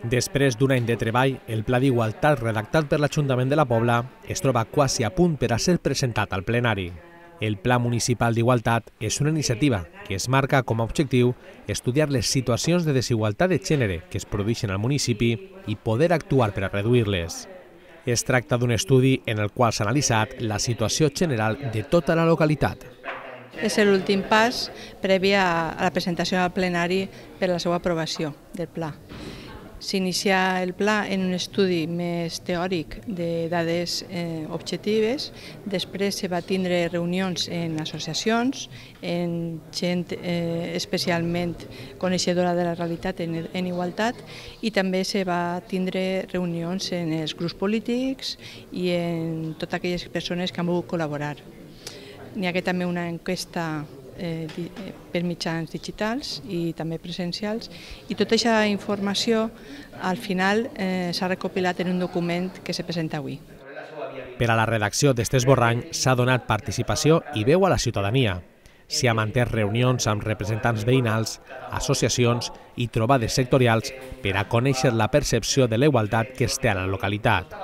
Després d'un any de treball, el Pla d'Igualtat redactat per l'Ajuntament de la Pobla es troba quasi a punt per a ser presentat al plenari. El Pla Municipal d'Igualtat és una iniciativa que es marca com a objectiu estudiar les situacions de desigualtat de gènere que es produeixen al municipi i poder actuar per a reduir-les. Es tracta d'un estudi en el qual s'ha analitzat la situació general de tota la localitat. És l'últim pas previ a la presentació al plenari per a la seva aprovació del pla. S'inicia el pla en un estudi més teòric de dades objectives, després se va tindre reunions en associacions, en gent especialment coneixedora de la realitat en igualtat i també se va tindre reunions en els grups polítics i en totes aquelles persones que han volgut col·laborar. N'hi ha també una enquesta per mitjans digitals i també presencials i tota aquesta informació al final s'ha recopilat en un document que se presenta avui. Per a la redacció d'aquest esborrany s'ha donat participació i veu a la ciutadania. S'hi ha mantès reunions amb representants veïnals, associacions i trobades sectorials per a conèixer la percepció de la igualtat que es té a la localitat.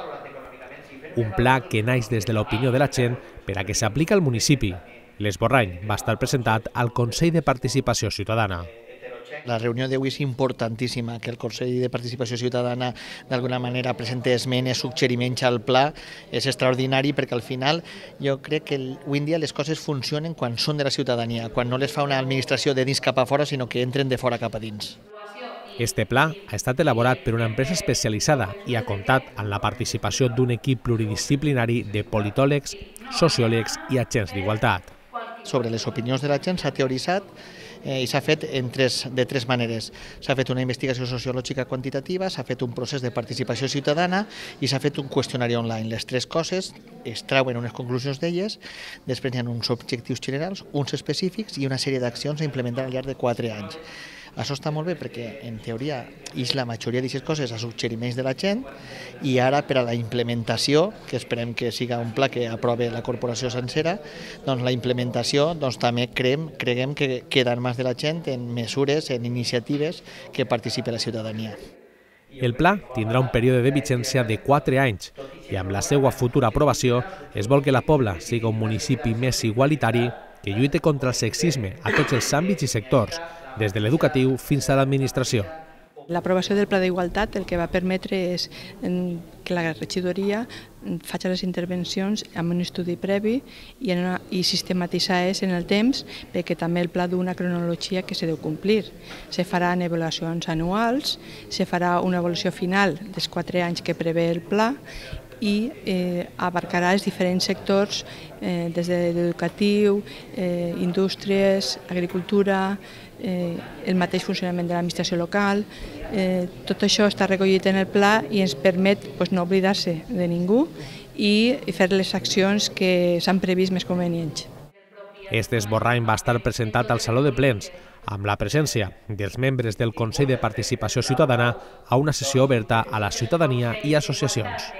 Un pla que naix des de l'opinió de la gent per a que s'apliqui al municipi. L'esborrany va estar presentat al Consell de Participació Ciutadana. La reunió d'avui és importantíssima, que el Consell de Participació Ciutadana d'alguna manera presenti esmenes, suggeriments al pla, és extraordinari perquè al final jo crec que avui en dia les coses funcionen quan són de la ciutadania, quan no les fa una administració de dins cap a fora, sinó que entren de fora cap a dins. Este pla ha estat elaborat per una empresa especialitzada i ha comptat amb la participació d'un equip pluridisciplinari de politòlegs, sociòlegs i agents d'igualtat. Sobre les opinions de la gent s'ha teoritzat i s'ha fet de tres maneres. S'ha fet una investigació sociològica quantitativa, s'ha fet un procés de participació ciutadana i s'ha fet un qüestionari online. Les tres coses es trauen unes conclusions d'elles, després hi ha uns objectius generals, uns específics i una sèrie d'accions a implementar al llarg de 4 anys. Això està molt bé perquè, en teoria, és la majoria d'aquestes coses a suggeriments de la gent i ara per a la implementació, que esperem que siga un pla que aprove la corporació sencera, doncs la implementació també creguem que queda en mans de la gent en mesures, en iniciatives que participi la ciutadania. El pla tindrà un període de vigència de 4 anys i amb la seva futura aprovació es vol que la Pobla sigui un municipi més igualitari que lluite contra el sexisme a tots els àmbits i sectors, des de l'educatiu fins a l'administració. L'aprovació del Pla d'Igualtat el que va permetre és que la regidoria faci les intervencions amb un estudi previ i sistematitzar-les en el temps perquè també el pla d'una cronologia que se deu complir. Se faran avaluacions anuals, se farà una avaluació final dels 4 anys que prevé el pla i abarcarà els diferents sectors des de l'educatiu, indústries, agricultura, el mateix funcionament de l'administració local. Tot això està recollit en el pla i ens permet no oblidar-se de ningú i fer les accions que s'han previst més convenients. Este esborrany va estar presentat al Saló de Plens amb la presència dels membres del Consell de Participació Ciutadana a una sessió oberta a la ciutadania i associacions.